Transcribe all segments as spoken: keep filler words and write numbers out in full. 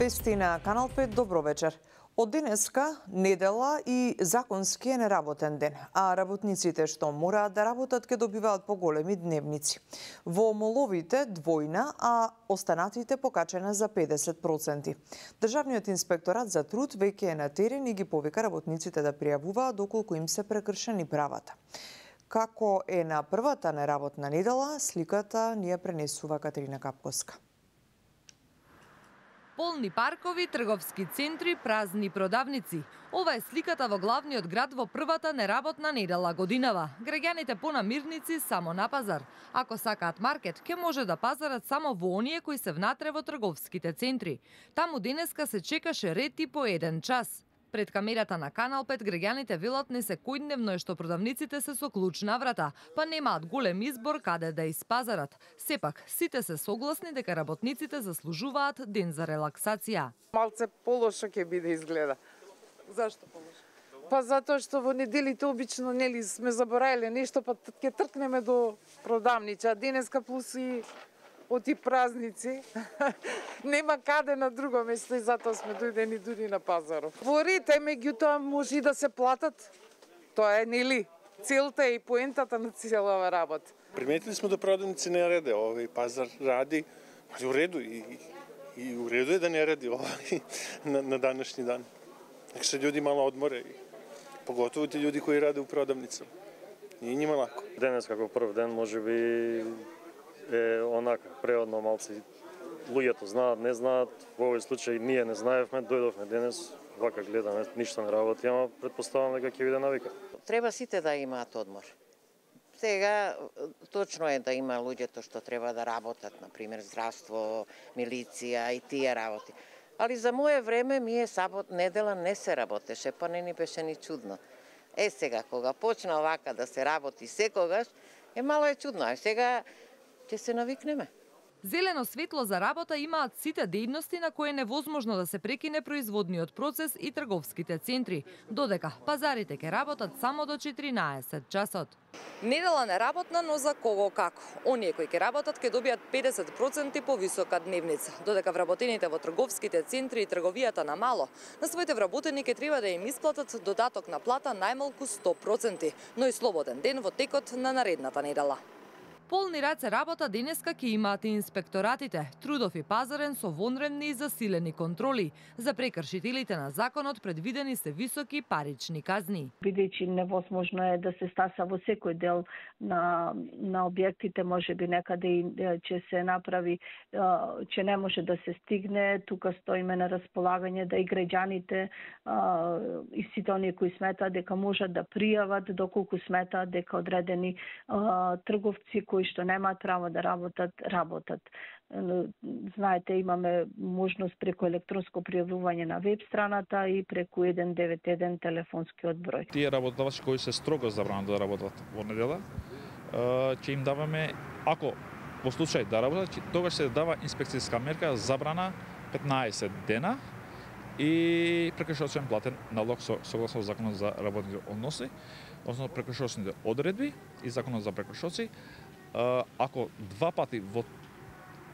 Вести на Канал пет, добро вечер. Од денеска, недела и законски е неработен ден, а работниците што мораат да работат ке добиваат поголеми дневници. Во моловите двојна, а останатите покачена за педесет проценти. Државниот инспекторат за труд веќе е на терен и ги повика работниците да пријавуваат доколку им се прекршени правата. Како е на првата неработна недела, сликата ни ја пренесува Катерина Капковска. Полни паркови, трговски центри, празни продавници. Ова е сликата во главниот град во првата неработна недела годинава. Граѓаните понамирници само на пазар. Ако сакаат маркет, ќе може да пазарат само во оние кои се внатре во трговските центри. Таму денеска се чекаше ред и по еден час. Пред камерата на Канал пет граѓаните велат не секојдневно е што продавниците се со клуч на врата, па немаат голем избор каде да испазарат. Сепак, сите се согласни дека работниците заслужуваат ден за релаксација. Малце полошо ќе биде изгледа. Зашто полошо? Па затоа што во неделите обично нели сме забораиле нешто, па ќе тркнеме до продавнича. Денеска плюс и оти празници, нема каде на друго место и затоа сме дојдени дури на пазарот. Во ред е, меѓутоа може и да се платат. Тоа е, нели, целта и поентата на целава работа. Приметили сме да продавници не раде, овој пазар ради, у реду и, и у реду е да не ради овој на, на данашни дан. Нека се људи мало одморе, поготово ти људи кои раде у продавница. Не нима лако. Денес како прв ден можеби е онака преодно малци. Луѓето знаат, не знаат, во овој случај ние не знаевме, дојдовме денес, вака гледаме, ништо не работи, ама предпоставам дека ќе биде навика. Треба сите да имаат одмор. Сега точно е да има луѓето што треба да работат, например здравство, милиција и тие работи. Али за мое време мие сабот недела не се работеше, па не ни беше ни чудно. Е сега кога почна вака да се работи секогаш, е мало е чудно, а сега ќе се навикнеме. Зелено светло за работа имаат сите дејности на кои е невозможно да се прекине производниот процес и трговските центри, додека пазарите ќе работат само до четиринаесет часот. Недела неработна, но за кого како. Оние кои ќе работат ќе добијат педесет проценти повисока дневница, додека вработените во трговските центри и трговијата на мало, на своите вработени ќе треба да им исплатат додаток на плата најмалку сто проценти, но и слободен ден во текот на наредната недела. Полни раце работа денеска ќе имаат и инспекторатите, трудов и пазарен со вонредни и засилени контроли. За прекршителите на законот предвидени се високи парични казни. Бидејќи невозможно е да се стаса во секој дел на на објектите, можеби некаде и ќе се направи, че не може да се стигне, тука стоиме на располагање да и граѓаните и сите оние кои сметаат дека можат да пријават доколку сметаат дека одредени трговци кои што немаат право да работат, работат. Знаете, имаме можност преку електронско пријавување на веб страната и преку еден девет еден телефонскиот број. Тие работодавци кои се строго забранено да работат во недела, ќе им даваме, ако во случај да работат, тогаш се дава инспекцијска мерка забрана петнаесет дена и прекршочен платен налог согласно Законот за работните односи, односно прекршочните одредби и Законот за прекршоци. Ако два пати во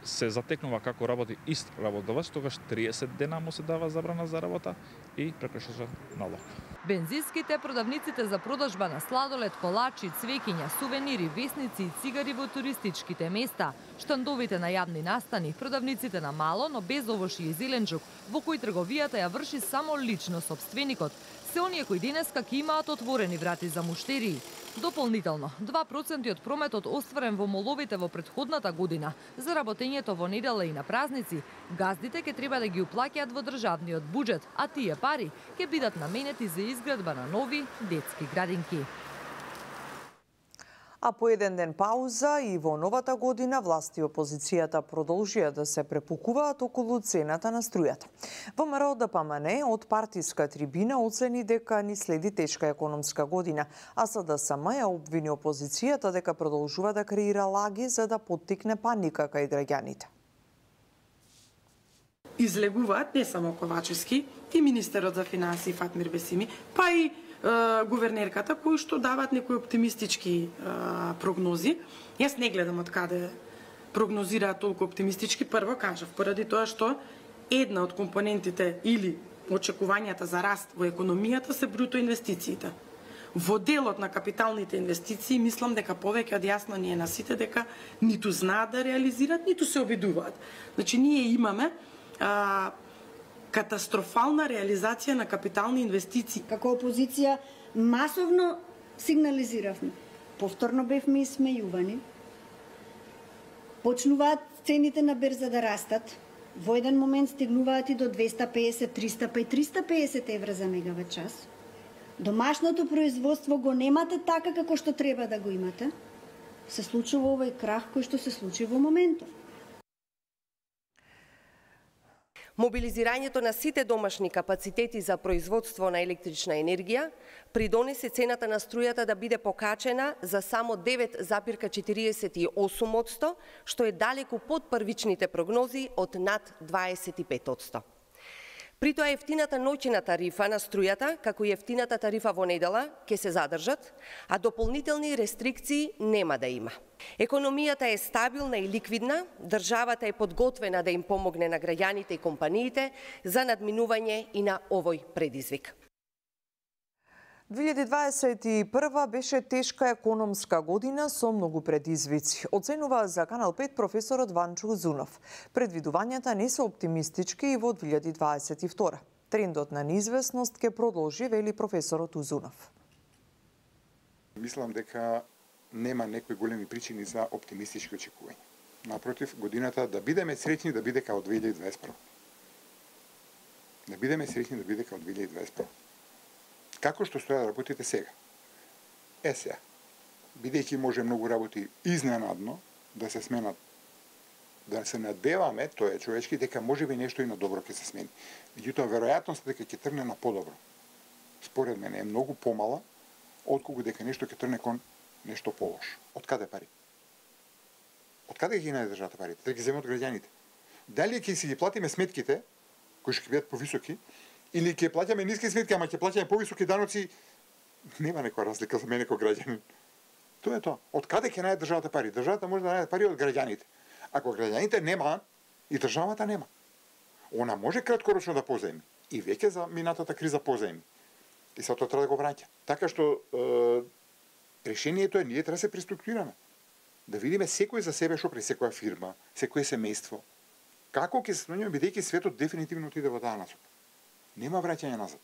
се затекнува како работи ист работодавач, тогаш триесет дена му се дава забрана за работа и прекршочен налог. Бензинските, продавниците за продажба на сладолед, колачи, цвеќиња, сувенири, весници и цигари во туристичките места, штандовите на јавни настани, продавниците на мало, но без овошје и зеленчук, во кои трговијата ја врши само лично сопственикот, се оние кои денеска ќе имаат отворени врати за муштерии. Дополнително, два проценти од прометот остварен во моловите во претходната година за работењето во недела и на празници, газдите ќе треба да ги уплаќаат во државниот буџет, а тие пари ќе бидат наменети за изградба на нови детски градинки. А по еден ден пауза и во новата година власти и опозицијата продолжија да се препукуваат околу цената на струјата. ВМРО Д П М Н од партиска трибина оцени дека ни следи тешка економска година, а С Д С М ја обвини опозицијата дека продолжува да креира лаги за да поттикне паника кај граѓаните. Излегуваат не само Ковачевски и министерот за финансии Фатмир Бесими, па и гувернерката, кои што даваат некои оптимистички а, прогнози. Јас не гледам од каде прогнозираат толку оптимистички. Прво кажав, поради тоа што една од компонентите или очекувањата за раст во економијата се бруто инвестициите. Во делот на капиталните инвестиции, мислам дека повеќе од јасно ни е на сите дека ниту знаат да реализираат, ниту се обидуваат. Значи, ние имаме а, катастрофална реализација на капитални инвестиции. Како опозиција масовно сигнализиравме. Повторно бевме исмејувани. Почнуваат цените на берза да растат. Во еден момент стигнуваат и до двеста песет, триста, па и триста песет евра за мегават час. Домашното производство го немате така како што треба да го имате. Се случува овој крах кој што се случи во моментов. Мобилизирањето на сите домашни капацитети за производство на електрична енергија придонесе цената на струјата да биде покачена за само девет запирка четириесет и осум одсто, што е далеку под првичните прогнози од над дваесет и пет одсто. При тоа ефтината ноќна тарифа на струјата, како и ефтината тарифа во недела, ќе се задржат, а дополнителни рестрикции нема да има. Економијата е стабилна и ликвидна, државата е подготвена да им помогне на граѓаните и компаниите за надминување и на овој предизвик. две илјади дваесет и прва беше тешка економска година со многу предизвици, оценува за Канал пет професорот Ванчо Узунов. Предвидувањата не се оптимистички и во две илјади дваесет и втора. Трендот на неизвестност ќе продолжи, вели професорот Узунов. Мислам дека нема некои големи причини за оптимистички очекувања. Напротив, годината да бидеме среќни да биде као две илјади дваесет и прва. Да бидеме среќни да биде као две илјади дваесет и прва. Како што стоја работите сега? Е сега, бидејќи може многу работи изненадно да се сменат, да се надеваме, тоа е човечки, дека може би нешто и на добро ќе се смени. Меѓутоа, веројатноста дека ќе трне на подобро, според мене е многу помала, отколку дека нешто ќе трне кон нешто полошо. Од каде пари? Од каде ги најде државата парите? Да ги земе од граѓаните. Дали ќе си ги платиме сметките, кои ќе бидат повисоки, или ќе плаќаме ниски сметки, ама ќе плаќаме повисоки даноци, нема некоја разлика за мене како граѓанин. Тоа е тоа. Од каде ќе најде државата пари? Државата може да најде пари од граѓаните. Ако граѓаните нема, и државата нема. Она може краткорочно да позаеми. И веќе за минатата криза позаеми. И се тоа треба да го враќа. Така што е, решението е ние треба да се преструктурираме. Да видиме секој за себе што при секоја фирма, секое семејство. Како ќе се смениме, бидејќи светот дефинитивно отиде во таа насока. Нема враќање назад.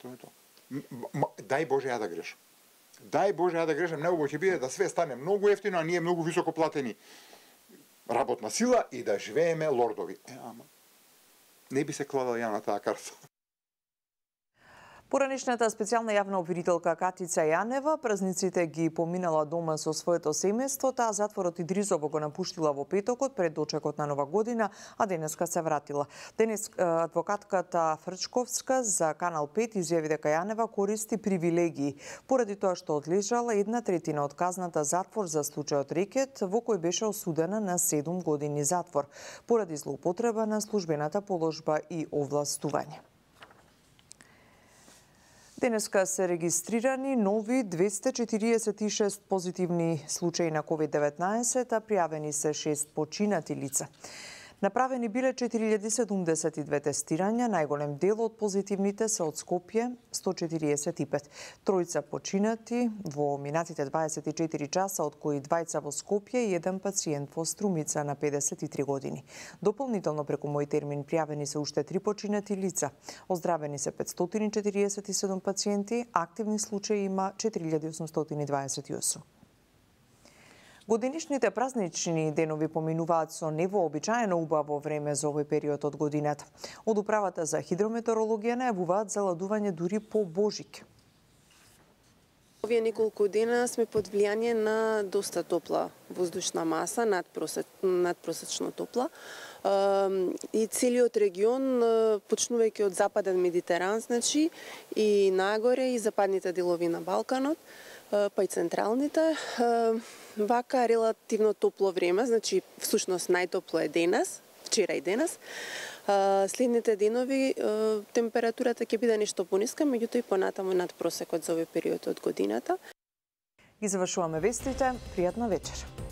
Тоа е тоа. Дај Боже ја да грешам. Дај Боже ја да грешам, неубаво ќе биде да све стане многу ефтино, а ние многу високо платени работна сила и да живееме лордови. Е, ама, не би се кладал ја на таа карта. Поранешната специјална јавна обвинителка Катица Јанева празниците ги поминала дома со своето семејство, таа затворот Идризово го напуштила во петокот пред дочекот на Нова година, а денеска се вратила. Денес адвокатката Фрчковска за Канал пет изјави дека Јанева користи привилегии, поради тоа што одлежала една третина од казната затвор за случајот Рекет, во кој беше осудена на седум години затвор, поради злоупотреба на службената положба и овластување. Денеска се регистрирани нови двесте четириесет и шест позитивни случаи на ковид деветнаесет, а пријавени се шест починати лица. Направени биле четири илјади седумдесет и две тестирања, најголем дел од позитивните се од Скопје, сто четириесет и пет. Тројца починати во минатите дваесет и четири часа, од кои двајца во Скопје и еден пациент во Струмица на педесет и три години. Дополнително преку мој термин пријавени се уште три починати лица. Оздравени се петстотини четириесет и седум пациенти, активни случаи има четири илјади осумстотини дваесет и осум. Годинишните празнични денови поминуваат со невообичаено убаво време за овој период од годината. Од Управата за хидрометеорологија најавуваат заладување дури по Божик. Овие неколку дена сме под влијание на доста топла воздушна маса, надпросеч, надпросечно топла. И целиот регион, почнувајќи од западен Медитеран, значи, и нагоре, и западните делови на Балканот, па и централните, вака релативно топло време, значи всушност најтопло е денес, вчера и денес. Следните денови температурата ќе биде нешто пониска, меѓутоа и понатаму над просекот за овој период од годината. И завршуваме вестите. Пријатна вечер.